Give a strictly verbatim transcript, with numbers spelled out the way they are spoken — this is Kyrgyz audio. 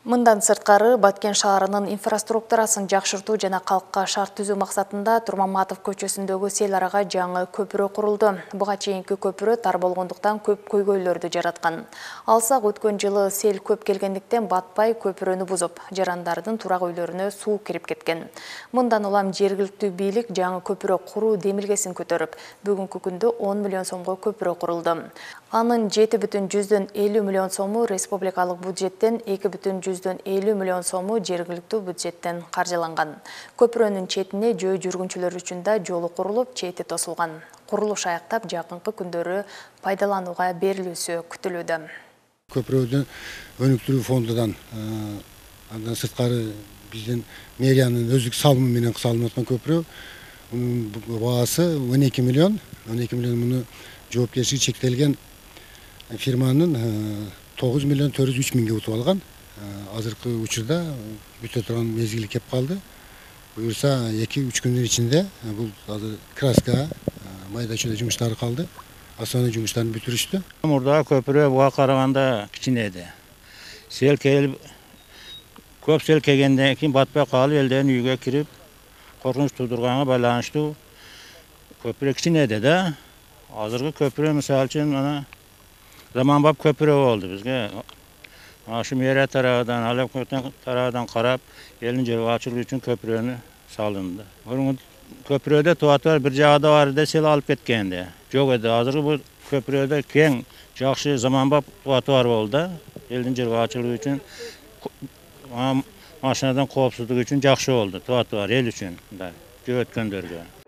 Мындан сырткары Баткен шаарынын инфраструктурасын жакшыртуу жана калкка шарт түзүү максатында Турмаматов көчөсүндөгү сел арага жаңы көпүрө курулду. Буга чейинки көпүрө тар болгондуктан көп көйгөйлөрдү жараткан. Алсак өткөн жылы сел көп келгендиктен батпай көпүрөнү бузуп, жарандардын турак үйлөрүнө суу кирип кеткен. Мындан улам жергиликтүү бийлик жаңы көпүрө куруу демилгесин көтөрүп, бүгүнкү күндө он миллион сомго көпүрө курулду. Анын жети бүтүн жүздөн элүү миллион сому республикалык бюджеттен, эки бүтүн жүздөн элүү миллион сому жергиликтүү бюджеттен каржыланган. Көпүрөнүн четине жөө жүргүнчүлөр үчүн да жолу курулуп, чети тосулган. Курулуш аяктап жакынкы күндөрү пайдаланууга берилүүсү күтүлүүдө. Көпүрөнү өнүктүрүү фондунан андан сырткары биздин мэриянын өздүк салымы менен салынып аткан көпүрө. Мунун баасы он эки миллион. он эки миллион муну жоопкерчилиги чектелген фирманын тогуз миллион төрт жүз үч миңге утуп алган. Азыркы учурда бүтө турган мезгили кеп калды. Буюрса эки үч күндүн ичинде бул азыр краска, майда чүйдө жумуштары калды. Основной жумуштарын бүтүрүштү. Мурдагы көпүрө буга караганда кичине эди. Сел келип, көп сел келгенден кийин батпай калып, элдердин үйгө кирип, коркунуч туудурганга байланыштуу көпүрө кичине эди да. Азыркы көпүрө мисалы үчүн мына заманбап көпүрө болду бизге. Ашы мэрия тарабынан, Алеп тарабынан карап, элдин жайгачылыгы үчүн көпүрөнү салынды. Мурунку көпүрөдө туатар бир жагда бар эле сел алып кеткенде. Жок эди. Азыркы бул көпүрөдө кең, жакшы заманбап туатар болду. Элдин жайгачылыгы үчүн, машинадан коопсуздук үчүн жакшы болду туатар эл үчүн да, жөө өткөндөргө.